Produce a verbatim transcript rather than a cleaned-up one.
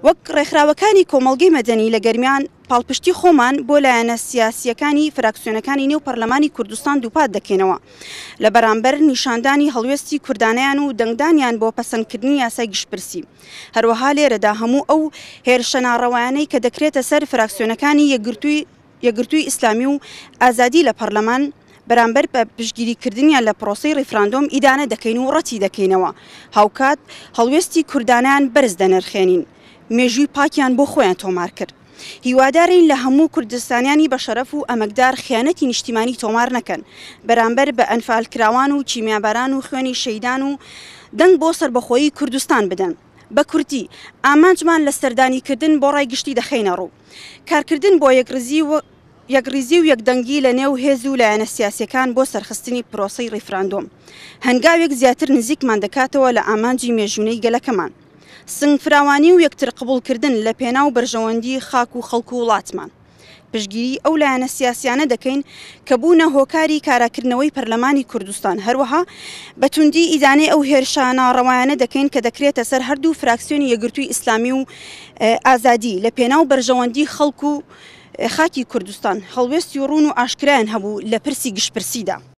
وەک ڕێکخراوەکانی کۆمەڵگەی مەدەنی لە گەرمیان پاڵپشتی خۆمان بۆ لایەنە سیاسییەکانی فراکسیۆنەکانی نێو پەرلەمانی کوردستان دووپات دەکەینەوە لە بەرامبەر نیشاندانی هەڵوێستی کوردانەیان و دەنگدانیان بۆ پەسەندکردنی یاسای گشتپرسی. هەروەها لێرەدا هەموو ئەو هێرشە ناڕەوایانەی کە دەکرێتە سەر فراکسیۆنەکانی یەکگرتووی ئیسلامی و ئازادی لە پەرلەمان بەرامبەر بە پشتگیریکردنیان لە پرۆسەی ڕیفراندۆم ئیدانە دەکەین و ڕەتی دەکەینەوە، هاوکات هەڵوێستی کوردانیان بەرز دەنرخێنین. مێژووی پاکیان بۆ خۆیان تۆمار کرد. هیوادارین لە هەموو کوردستانیانی بەشەرەف و ئەمەکدار خیانەتی نیشتیمانی تۆمار نەکەن بەرامبەر بە ئەنفالکراوان و کیمیاباران و خوێنی شەیدان و دەنگ بۆ سەربەخۆیی کوردستان بدەن. بە کورتی ئامانجمان لە سەردانیکردن بۆ ڕای گشتی دەخەینە ڕوو. کارکردن بۆ یەکڕیزی و یەکڕیزی و یەکدەنگی لە نێو هێز و لایەنە سیاسیەکان بۆ سەرخستنی پرۆسەی ڕیفراندۆم هەنگاوێک زیاتر نزیکمان دەکاتەوە لە ئامانجی مێژوونەی گەلەکەمان. سنگ فراوانی و یەکتر قبوڵکردن لە پێناو بەرژەوەندی خاک و خەڵک و وڵاتمان. پشتگیری ئەو لایەنە سیاسیانە دەکەین کە بوونە هۆکاری کاراکردنەوەی پەرلەمانی کوردستان، هەروەها بە توندی ئیدانەی ئەو هێرشە ناڕەوایانە دەکەین کە دەکرێتە سەر هەردوو فراکسیۆنی یەکگرتووی ئیسلامی و ئازادی لە پێناو بەرژەوەندی خەڵک و خاکی کوردستان. هەڵوێستی ڕوون و ئاشکرایان هەبوو لە پرسی گشتپرسیدا.